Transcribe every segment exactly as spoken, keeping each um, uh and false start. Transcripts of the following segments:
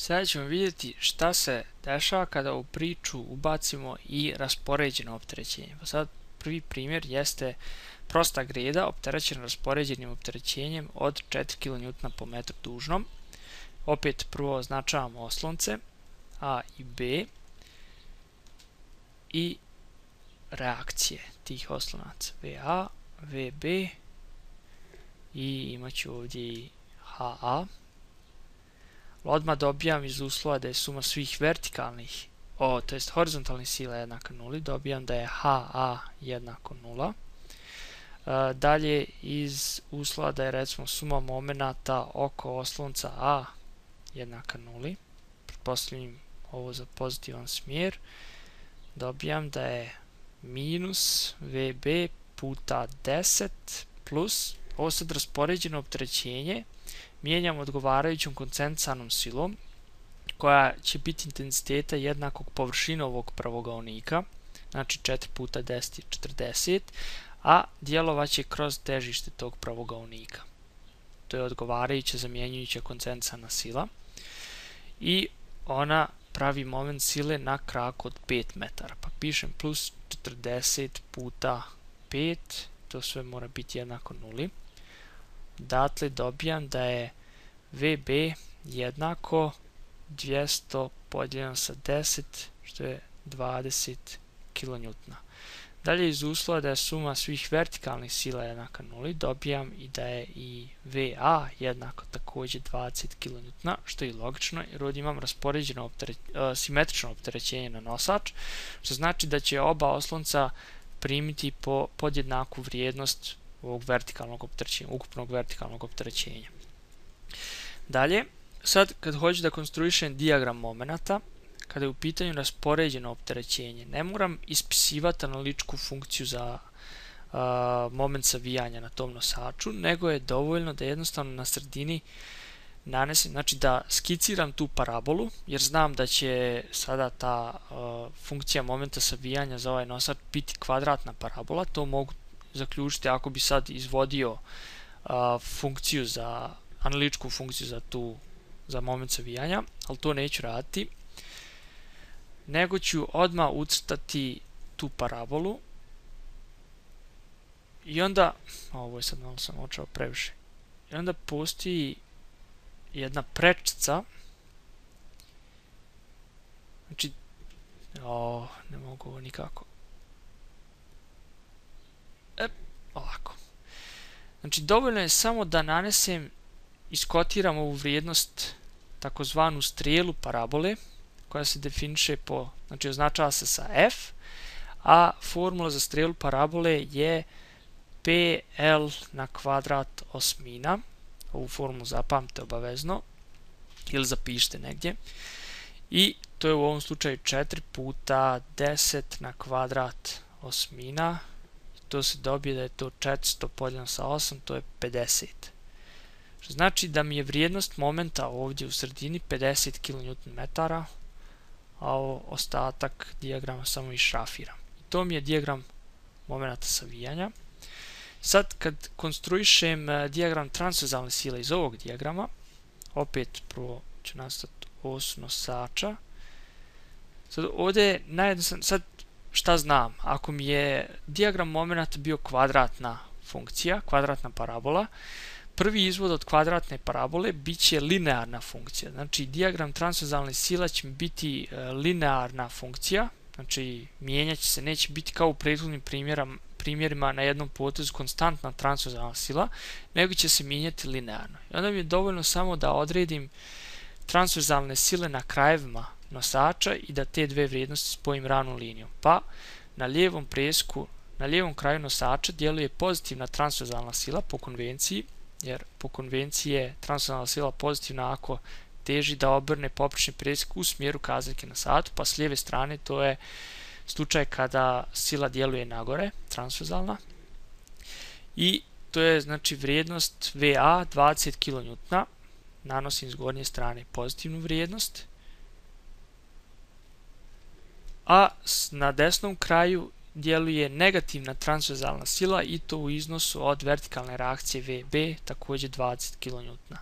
Sada ćemo vidjeti šta se dešava kada u priču ubacimo i raspoređeno opterećenje. Pa sad prvi primjer jeste prosta greda opterećena raspoređenim opterećenjem od četiri kilonewtona po metru dužnom. Opet prvo označavamo oslonce A i B i reakcije tih oslonaca V A, V B i imat ću ovdje i H A. Odmah dobijam iz uslova da je suma svih vertikalnih, o, to jest horizontalnih sila jednaka nuli, dobijam da je H A jednako nula. E, dalje iz uslova da je recimo suma momenata oko oslonca A jednaka nuli, pretpostavljam ovo za pozitivan smjer, dobijam da je minus V B puta deset plus, ovo sad raspoređeno opterećenje, mijenjam odgovarajućom koncentracionom silom koja će biti intenziteta jednakog površine ovog pravogaonika, znači četiri puta deset je četrdeset, a djelovaće kroz težište tog pravogaonika. To je odgovarajuća zamjenjujuća koncentraciona sila i ona pravi moment sile na kraku od pet metara. Pa pišem plus četrdeset puta pet, to sve mora biti jednako nuli. Dakle, dobijam da je V B jednako dvjesto podijeljeno sa deset, što je dvadeset kilonewtona. Dalje iz uslova da je suma svih vertikalnih sila jednaka nuli, dobijam i da je i V A jednako također dvadeset kilonewtona, što je logično jer ovdje imam raspoređeno optere, uh, simetrično opterećenje na nosač, što znači da će oba oslonca primiti po podjednaku vrijednost ovog vertikalnog opterećenja, ukupnog vertikalnog opterećenja. Dalje, sad kad hoću da konstruišem dijagram momenata, kada je u pitanju raspoređeno opterećenje, ne moram ispisivati analitičku funkciju za uh, moment savijanja na tom nosaču, nego je dovoljno da jednostavno na sredini nanesem, znači da skiciram tu parabolu, jer znam da će sada ta uh, funkcija momenta savijanja za ovaj nosač biti kvadratna parabola. To mogu zaključiti ako bi sad izvodio uh, funkciju za analitičku funkciju za tu za moment savijanja, ali to neću raditi, nego ću odmah ucrtati tu parabolu i onda, ovo je sad malo sam očao previše, i onda postoji jedna prečica, znači, o, ne mogu ovo nikako, e, ovako, znači dovoljno je samo da nanesem, iskotiram ovu vrijednost takozvanu strijelu parabole koja se definiše po, znači označava se sa F, a formula za strijelu parabole je P L na kvadrat osmina. Ovu formulu zapamtite obavezno ili zapišite negdje i to je u ovom slučaju četiri puta deset na kvadrat osmina, to se dobije da je to četiristo podijeljeno sa osam, to je pedeset. Što znači da mi je vrijednost momenta ovdje u sredini pedeset kilonewton-metara, a ostatak dijagrama samo išrafiram. I to mi je dijagram momenta savijanja. Sad kad konstruišem dijagram transverzalne sile iz ovog dijagrama, opet prvo ću nastati os nosača. Sad ovdje je najjednostavnije, sad šta znam, ako mi je dijagram momenta bio kvadratna funkcija, kvadratna parabola, prvi izvod od kvadratne parabole bit će linearna funkcija. Znači, dijagram transverzalne sila će biti e, linearna funkcija, znači mijenjat će se, neće biti kao u prethodnim primjerima na jednom potezu konstantna transverzalna sila, nego će se mijenjati linearno. I onda mi je dovoljno samo da odredim transverzalne sile na krajevima nosača i da te dve vrijednosti spojim ravnom linijom. Pa na lijevom presku, na lijevom kraju nosača djeluje pozitivna transverzalna sila po konvenciji, jer po konvenciji je transverzalna sila pozitivna ako teži da obrne poprečni presjek u smjeru kazaljke na satu, pa s lijeve strane to je slučaj kada sila djeluje nagore, transverzalna. I to je znači vrijednost V A dvadeset kilonewtona, nanosim s gornje strane pozitivnu vrijednost, a na desnom kraju djeluje negativna transverzalna sila i to u iznosu od vertikalne reakcije V B, također dvadeset kilonewtona.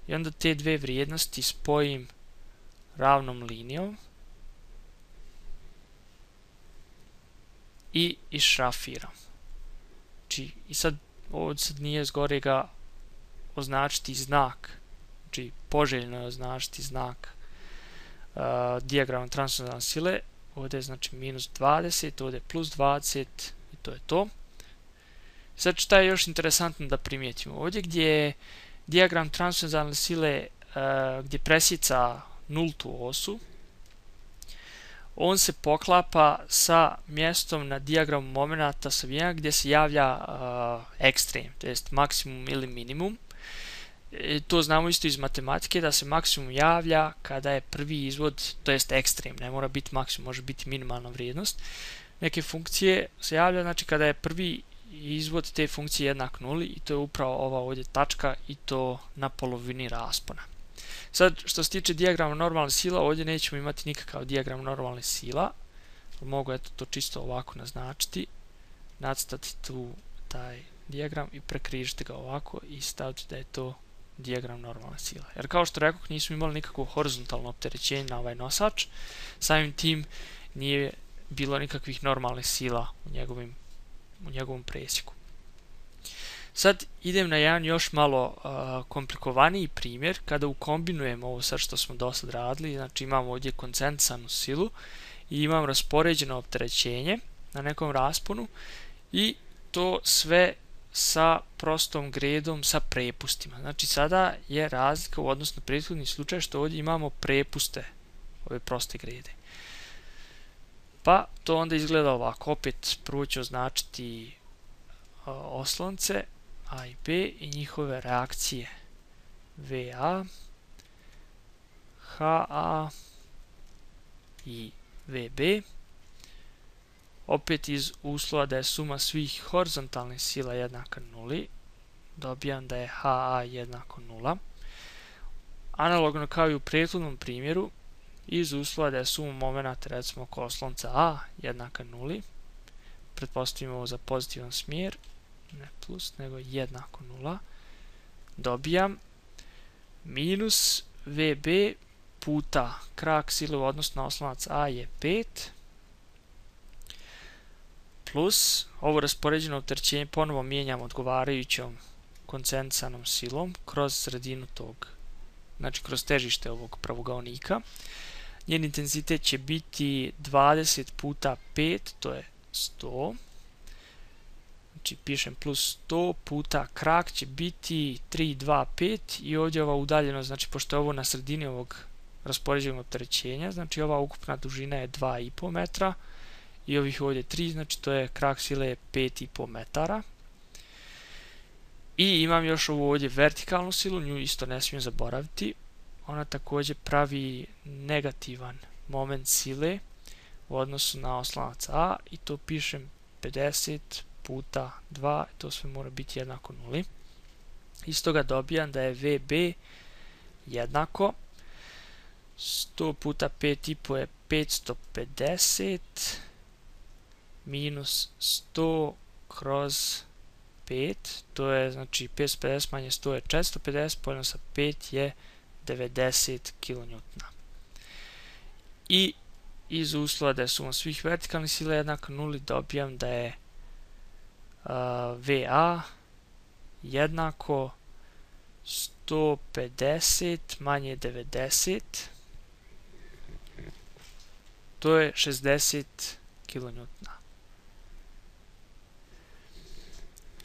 i onda te dve vrijednosti spojim ravnom linijom i išrafiram. Znači, i sad ovdje sad nije zgorega označiti znak, znači poželjno je označiti znak uh, dijagrama transverzalne sile. Ovdje je znači minus dvadeset, ovdje je plus dvadeset i to je to. Sad šta je još interesantno da primijetimo? Ovdje gdje je dijagram transverzalne sile uh, gdje presjeca nultu osu, on se poklapa sa mjestom na dijagramu momenata savijanja gdje se javlja uh, ekstrem, to jest maksimum ili minimum. E, to znamo isto iz matematike da se maksimum javlja kada je prvi izvod, to jest ekstrem, ne mora biti maksimum, može biti minimalna vrijednost neke funkcije se javlja, znači kada je prvi izvod te funkcije jednak nuli, i to je upravo ova ovdje tačka i to na polovini raspona. Sad, što se tiče dijagrama normalne sila, ovdje nećemo imati nikakav dijagram normalne sila. Mogu eto to čisto ovako naznačiti, nacrtati tu taj dijagram i prekrižiti ga ovako i staviti da je to dijagram normalne sila. Jer kao što rekoh, nismo imali nikakvo horizontalno opterećenje na ovaj nosač, samim tim nije bilo nikakvih normalnih sila u, njegovim, u njegovom presjeku. Sad idem na jedan još malo uh, komplikovaniji primjer kada ukombinujemo ovo sad što smo do sad radili. Znači imamo ovdje koncentrisanu silu i imam raspoređeno opterećenje na nekom rasponu i to sve sa prostom gredom sa prepustima. Znači sada je razlika u odnosu na prethodni slučaj što ovdje imamo prepuste ove proste grede. Pa to onda izgleda ovako. Opet prvo ću označiti uh, oslonce A i B i njihove reakcije V A, H A i V B. Opet iz uslova da je suma svih horizontalnih sila jednaka nuli, dobijam da je H A jednako nula. Analogno kao i u prethodnom primjeru, iz uslova da je suma momenata recimo oko oslonca A jednaka nuli, pretpostavimo ovo za pozitivan smjer, ne plus, nego jednako nula, dobijam minus V B puta krak sile u odnosu na oslonac A je pet, plus ovo raspoređeno opterećenje ponovo mijenjam odgovarajućom koncentrisanom silom kroz sredinu tog, znači kroz težište ovog pravogaonika. Njen intenzitet će biti dvadeset puta pet, to je sto. Znači pišem plus sto puta krak će biti tri, dva, pet i ovdje ova udaljenost, znači pošto je ovo na sredini ovog raspoređenog opterećenja, znači ova ukupna dužina je dva i po metra i ovih ovdje tri, znači to je krak sile je pet i po metara. I imam još ovu ovdje vertikalnu silu, nju isto ne smijem zaboraviti. Ona također pravi negativan moment sile u odnosu na oslonac A i to pišem pedeset puta dva, to sve mora biti jednako nuli. Iz toga dobijam da je V B jednako sto puta pet i po je petsto pedeset minus sto kroz pet, to je znači petsto pedeset manje sto je četiristo pedeset, podeljeno sa pet je devedeset kilonewtona. I iz uslova da je suma svih vertikalnih sila jednaka nuli, dobijam da je uh, V A jednako sto pedeset manje devedeset, to je šezdeset kilonewtona.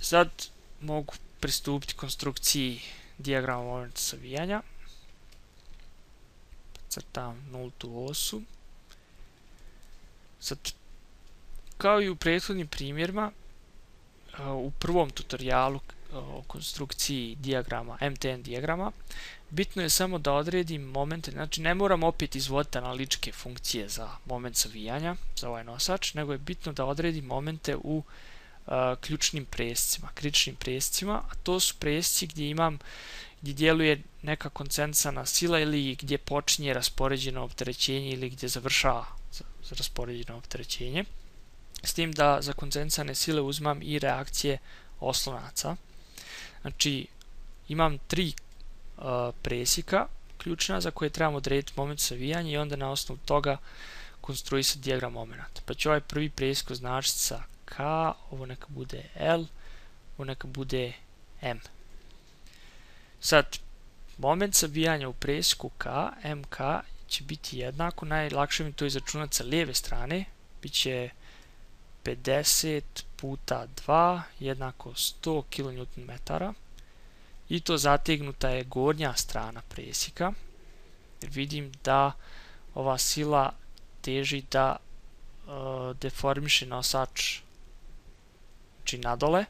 Sad mogu pristupiti konstrukciji dijagrama momenta savijanja. Crtam nultu osu. Sad, kao i u prethodnim primjerima, u prvom tutorijalu o konstrukciji dijagrama, M T N dijagrama, bitno je samo da odredim momente, znači ne moram opet izvoditi analitičke funkcije za moment savijanja, za ovaj nosač, nego je bitno da odredim momente u uh, ključnim prescima, kritičnim prescima, a to su presci gdje imam, gdje djeluje neka koncentrisana sila ili gdje počinje raspoređeno opterećenje ili gdje završava raspoređeno opterećenje. S tim da za koncentrisane sile uzmam i reakcije oslonaca. Znači imam tri uh, presjeka ključna za koje trebamo odrediti moment savijanja i onda na osnovu toga konstruisati dijagram momenta. Pa ću ovaj prvi presjek označiti sa K, ovo neka bude L, ovo neka bude M. Sad, moment savijanja u presjeku K, M K, će biti jednako, najlakše mi to izračunati sa lijeve strane, bit će pedeset puta dva jednako sto kilonewton metara i to zategnuta je gornja strana presjeka, jer vidim da ova sila teži da uh, deformiše nosač, znači nadole,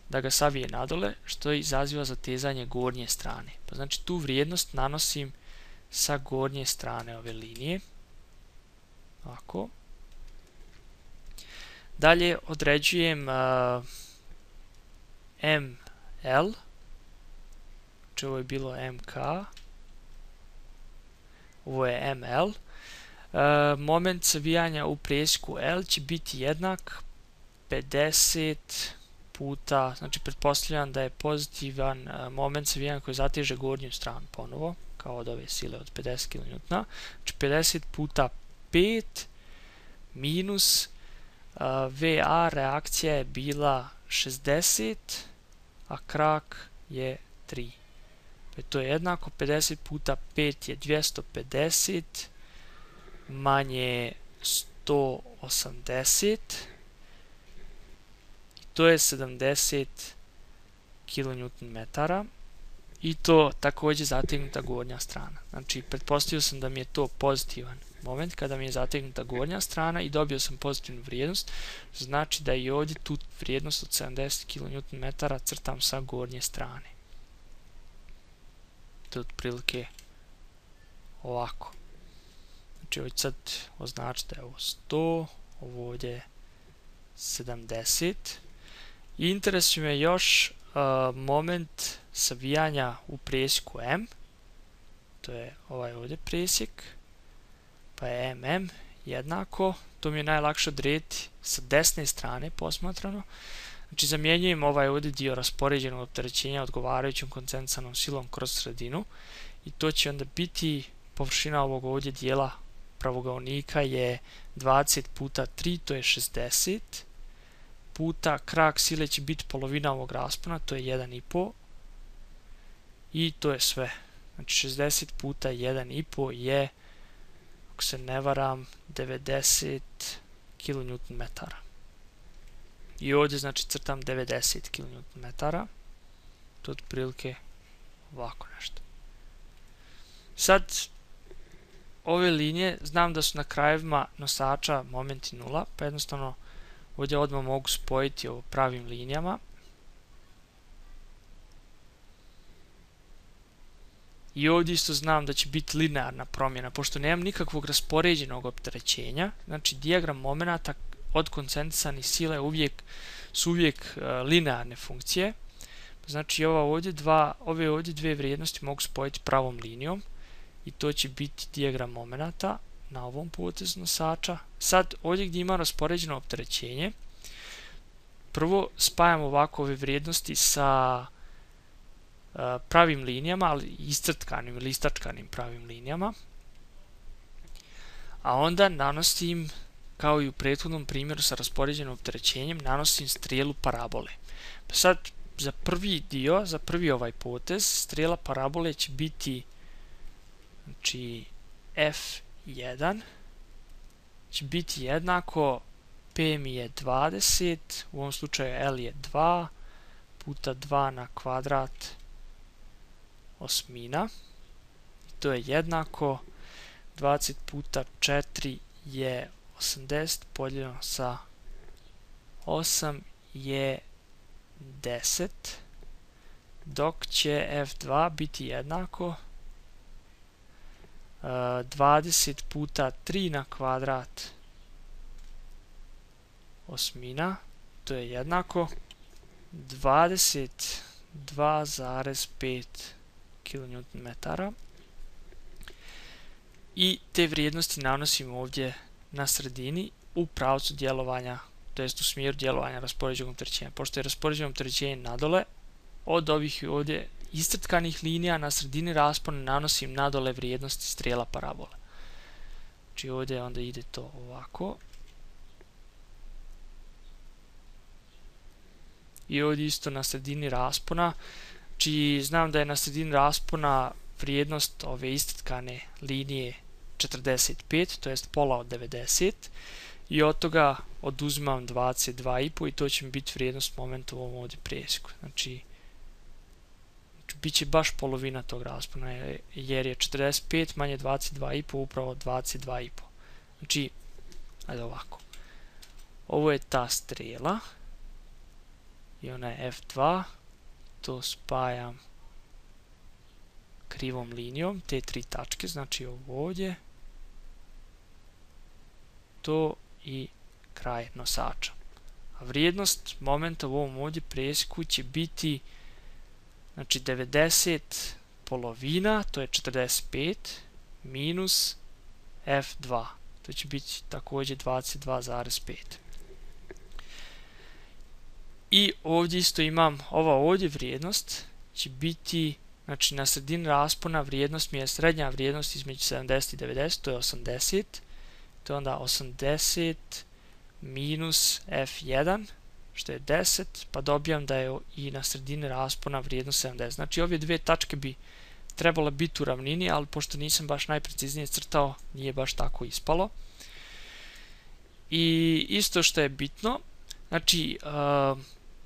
da ga savije nadole, što izaziva zatezanje gornje strane. Pa znači tu vrijednost nanosim sa gornje strane ove linije. Ovako. Dalje određujem uh, M L, znači ovo je bilo M K, ovo je M L. Uh, moment savijanja u presjeku L će biti jednak pedeset puta, znači pretpostavljam da je pozitivan uh, moment savijanja koji zateže gornju stranu ponovo, kao od ove sile od pedeset kilonewtona, znači pedeset puta pet minus uh, V A reakcija je bila šezdeset, a krak je tri. Pa to je jednako pedeset puta pet je dvjesto pedeset manje sto osamdeset, i to je sedamdeset kilonewton metara i to također zategnuta gornja strana. Znači pretpostavio sam da mi je to pozitivan moment kada mi je zategnuta gornja strana i dobio sam pozitivnu vrijednost, znači da i ovdje tu vrijednost od sedamdeset kilonewton metara crtam sa gornje strane. To je otprilike ovako. Znači ovdje sad označiti da je ovo sto, ovo ovdje je sedamdeset. I interesuje me još uh, moment savijanja u presjeku M, to je ovaj ovdje presjek, pa je M M jednako, to mi je najlakše odrediti sa desne strane posmatrano. Znači zamjenjujem ovaj ovdje dio raspoređenog opterećenja odgovarajućom koncentracionom silom kroz sredinu i to će onda biti površina ovog ovdje dijela pravougaonika je dvadeset puta tri, to je šezdeset, puta krak sile će biti polovina ovog raspona, to je jedan i po, i to je sve. Znači šezdeset puta jedan i po je, ako se ne varam, devedeset kilonewton metara. I ovdje znači crtam devedeset kilonewton metara. To je otprilike ovako nešto. Sad, ove linije, znam da su na krajevima nosača momenti nula, pa jednostavno ovdje odmah mogu spojiti ovo pravim linijama. I ovdje isto znam da će biti linearna promjena, pošto nemam nikakvog raspoređenog opterećenja, znači dijagram momenata od koncentrisanih sila uvijek, su uvijek uh, linearne funkcije. Znači ova ovdje dva, ove ovdje dvije vrijednosti mogu spojiti pravom linijom i to će biti dijagram momenata na ovom potezu nosača. Sad ovdje gdje ima raspoređeno opterećenje, prvo spajam ovako ove vrijednosti sa uh, pravim linijama, ali iscrtkanim ili istačkanim pravim linijama, a onda nanosim, kao i u prethodnom primjeru sa raspoređenim opterećenjem, nanosim strijelu parabole. Pa sad za prvi dio, za prvi ovaj potez, strijela parabole će biti, znači F jedan će biti jednako, P mi je dvadeset, u ovom slučaju L je dva, puta dva na kvadrat osmina, i to je jednako, dvadeset puta četiri je osamdeset, podijeljeno sa osam je deset, dok će F dva biti jednako uh, dvadeset puta tri na kvadrat osmina, to je jednako dvadeset dva zarez pet kilonewton metara. I te vrijednosti nanosim ovdje na sredini u pravcu djelovanja, to jest u smjeru djelovanja raspoređenog opterećenja. Pošto je raspoređeno opterećenje nadole, od ovih ovdje iscrtkanih linija, na sredini raspona nanosim nadole vrijednosti strela parabole. Znači ovdje onda ide to ovako. I ovdje isto na sredini raspona. Znači znam da je na sredini raspona vrijednost ove iscrtkane linije četrdeset pet, to jest pola od devedeset. I od toga oduzimam dvadeset dva i po i to će mi biti vrijednost momenta u ovom ovdje presjeku. Znači, znači bit će baš polovina tog raspona jer je četrdeset pet manje dvadeset dva i po upravo dvadeset dva i po. Znači, ajde ovako. Ovo je ta strela i ona je F dva. To spajam krivom linijom, te tri tačke, znači ovo ovdje, to i kraj nosača. A vrijednost momenta u ovom ovdje presjeku će biti znači devedeset polovina, to je četrdeset pet, minus F dva. To će biti također dvadeset dva zarez pet. I ovdje isto imam, ova ovdje vrijednost će biti, znači na sredini raspona vrijednost mi je srednja vrijednost između sedamdeset i devedeset, to je osamdeset. To je onda osamdeset minus F jedan, što je deset, pa dobijam da je i na sredini raspona vrijednost sedamdeset. Znači ove dvije tačke bi trebalo biti u ravnini, ali pošto nisam baš najpreciznije crtao, nije baš tako ispalo. I isto što je bitno, znači uh,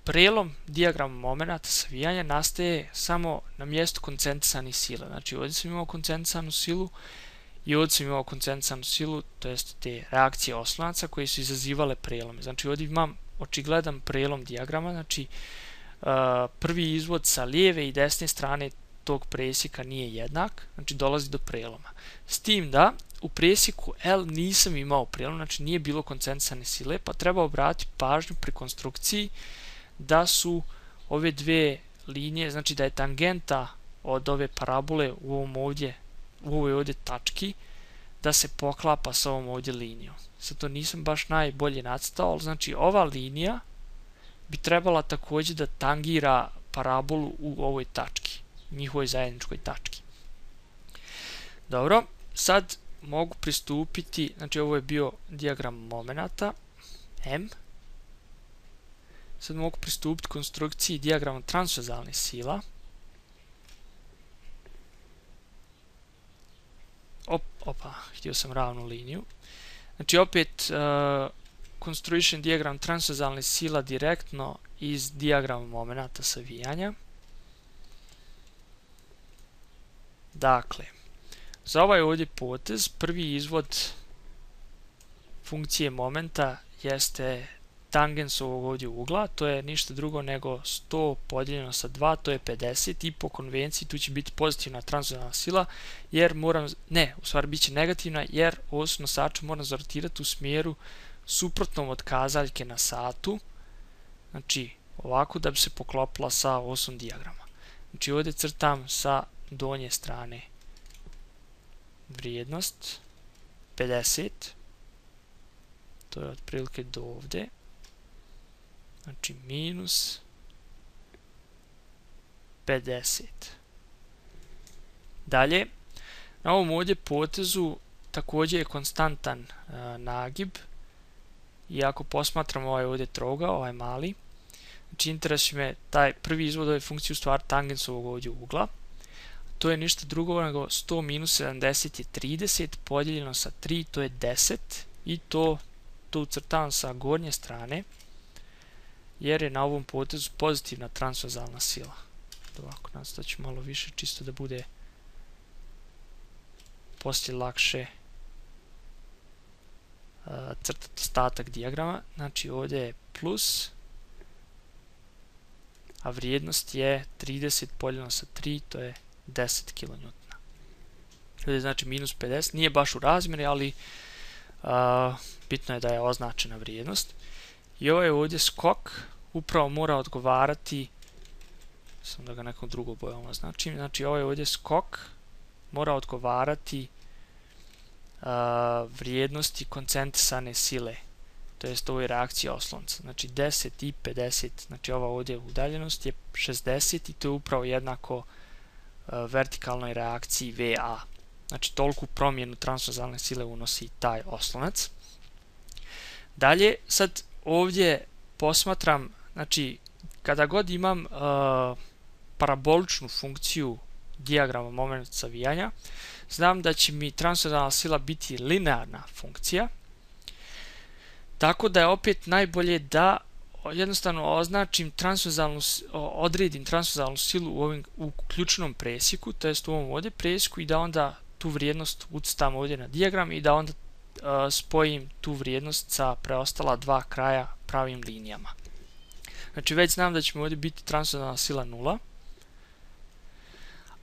prelom dijagrama momenata savijanja nastaje samo na mjestu koncentrisanih sila. Znači ovdje sam imao koncentrisanu silu i ovdje sam imao koncentrisanu silu, to jest te reakcije oslonaca koje su izazivale prelome. Znači ovdje imam očigledan prelom dijagrama, znači uh, prvi izvod sa lijeve i desne strane tog presjeka nije jednak, znači dolazi do preloma. S tim da u presjeku L nisam imao prelom, znači nije bilo koncentrisane sile, pa treba obratiti pažnju pri konstrukciji da su ove dvije linije, znači da je tangenta od ove parabole u ovom ovdje, u ovoj ovdje tački, da se poklapa sa ovom ovdje linijom. Sad to nisam baš najbolje nacrtao, ali znači ova linija bi trebala također da tangira parabolu u ovoj tački, njihovoj zajedničkoj tački. Dobro, sad mogu pristupiti, znači ovo je bio dijagram momenata M. Sad mogu pristupiti konstrukciji dijagrama transverzalnih sila. Op, opa, htio sam ravnu liniju. Znači opet uh, konstruišem dijagram transverzalnih sila direktno iz dijagrama momenata savijanja. Dakle, za ovaj ovdje potez prvi izvod funkcije momenta jeste tangens ovog ovdje ugla, to je ništa drugo nego sto podijeljeno sa dva, to je pedeset i po konvenciji tu će biti pozitivna transverzalna sila, jer moram, ne, u stvari bit će negativna, jer os nosača moram zarotirati u smjeru suprotnom od kazaljke na satu, znači ovako da bi se poklopila sa osom dijagrama. Znači ovdje crtam sa donje strane vrijednost pedeset, to je otprilike do ovdje, znači minus pedeset. Dalje, na ovom ovdje potezu također je konstantan uh, nagib i ako posmatramo ovaj ovdje trougao, ovaj mali, znači interesuje me taj prvi izvod ove funkcije u stvari tangens ovog ovdje ugla. To je ništa drugo nego sto minus sedamdeset je trideset, podijeljeno sa tri, to je deset i to, to ucrtavam sa gornje strane, jer je na ovom potezu pozitivna transverzalna sila. Ovako, nastavit ću malo više, čisto da bude poslije lakše uh, crtati ostatak dijagrama. Znači ovdje je plus, a vrijednost je trideset podijeljeno sa tri, to je deset kilonewtona. Ovdje znači minus pedeset, nije baš u razmjeri, ali uh, bitno je da je označena vrijednost. I ovaj ovdje skok upravo mora odgovarati, samo da ga nekom drugom bojom označim, znači ovaj ovdje skok mora odgovarati uh, vrijednosti koncentrisane sile, to jest ovoj reakciji oslonca. Znači deset i pedeset, znači ova ovdje udaljenost je šezdeset i to je upravo jednako vertikalnoj reakciji V A. Znači toliku promjenu transverzalne sile unosi taj oslonac. Dalje, sad ovdje posmatram, znači kada god imam uh, paraboličnu funkciju dijagrama momenta savijanja, znam da će mi transverzalna sila biti linearna funkcija, tako da je opet najbolje da jednostavno označim transverzalnu, odredim transverzalnu silu u, ovim, u ključnom presjeku, to jest u ovom ovdje presjeku, i da onda tu vrijednost ucrtam ovdje na dijagram i da onda uh, spojim tu vrijednost sa preostala dva kraja pravim linijama. Znači već znam da će mi ovdje biti transverzalna sila nula,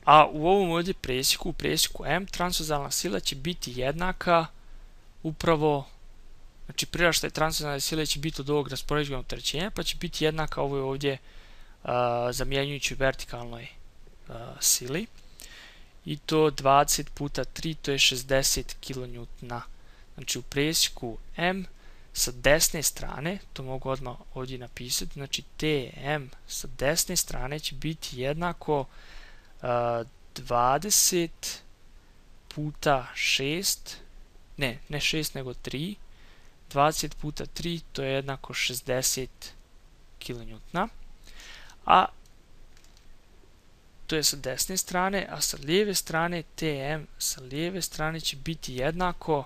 a u ovom ovdje presjeku, u presjeku M, transverzalna sila će biti jednaka upravo, znači priraštaj transverzalne sile će biti od ovog raspoređenog opterećenja, pa će biti jednaka ovoj ovdje uh, zamjenjujući vertikalnoj uh, sili. I to dvadeset puta tri, to je šezdeset kilonewtona. Znači u presjeku M sa desne strane, to mogu odmah ovdje napisati, znači T M sa desne strane će biti jednako uh, dvadeset puta šest, ne, ne šest nego tri, dvadeset puta tri, to je jednako šezdeset kilonewtona, a to je sa desne strane, a sa lijeve strane T M sa lijeve strane će biti jednako,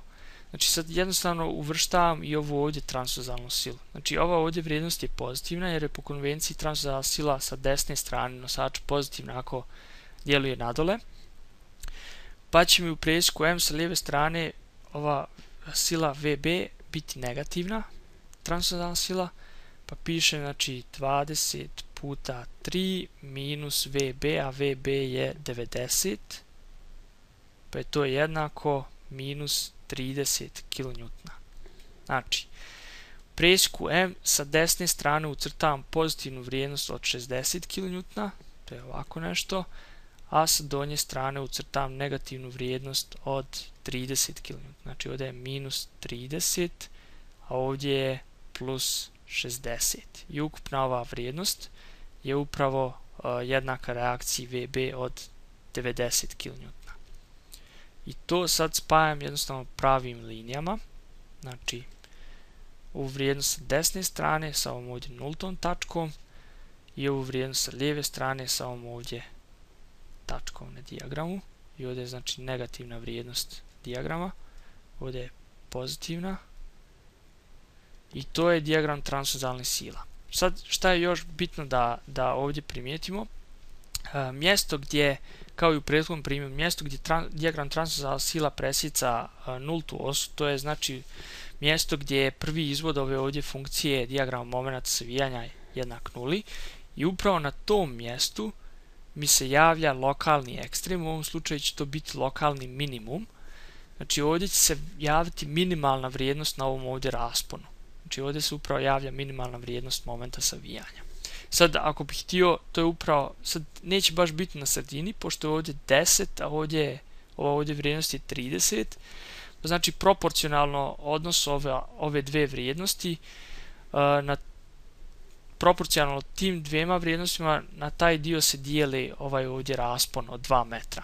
znači sad jednostavno uvrštavam i ovu ovdje transverzalnu silu. Znači ova ovdje vrijednost je pozitivna jer je po konvenciji transverzalna sila sa desne strane nosača pozitivna ako djeluje nadole, pa će mi u presjeku M sa lijeve strane ova sila V B biti negativna transverzalna sila, pa piše znači dvadeset puta tri minus V B, a V B je devedeset, pa je to jednako minus trideset kilonewtona. Znači, u presjeku M sa desne strane ucrtavam pozitivnu vrijednost od šezdeset kilonewtona, to je ovako nešto, a sa donje strane ucrtavam negativnu vrijednost od trideset kilonewtona. Znači ovdje je minus trideset, a ovdje je plus šezdeset. I ukupna ova vrijednost je upravo uh, jednaka reakciji V B od devedeset kilonewtona. I to sad spajam jednostavno pravim linijama. Znači, ovu vrijednost sa desne strane sa ovom ovdje nultom tačkom i ovu vrijednost sa lijeve strane sa ovom ovdje tačkom na dijagramu. I ovdje je znači negativna vrijednost dijagrama, ovdje je pozitivna. I to je dijagram transverzalnih sila. Sad šta je još bitno da, da ovdje primijetimo? E, mjesto gdje, kao i u prethodnom primjeru, mjesto gdje tran, dijagram transverzalnih sila presjeca e, nultu osu, to je znači mjesto gdje je prvi izvod ove ovdje funkcije dijagrama momenta savijanja jednak nuli, i upravo na tom mjestu mi se javlja lokalni ekstrem, u ovom slučaju će to biti lokalni minimum. Znači ovdje će se javiti minimalna vrijednost na ovom ovdje rasponu. Znači ovdje se upravo javlja minimalna vrijednost momenta savijanja. Sad ako bih htio, to je upravo, sad neće baš biti na sredini, pošto je ovdje deset, a ovdje, ova ovdje vrijednost je trideset. Znači proporcionalno odnos ove, ove dve vrijednosti, uh, na proporcionalno tim dvema vrijednostima na taj dio se dijeli ovaj ovdje raspon od dva metra.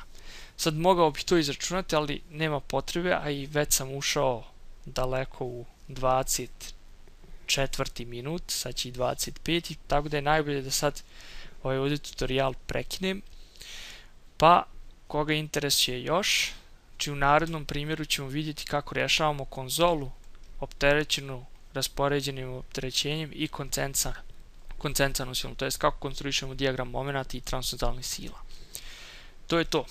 Sad mogao bih to izračunati, ali nema potrebe, a i već sam ušao daleko u dvadeset četvrti minut, sad će i dvadeset peti, tako da je najbolje da sad ovaj ovdje tutorial prekinem. Pa, koga interesuje još, znači u narednom primjeru ćemo vidjeti kako rješavamo konzolu opterećenu raspoređenim opterećenjem i koncentranu silom, to jest kako konstruišemo dijagram momenata i transverzalnih sila. To je to.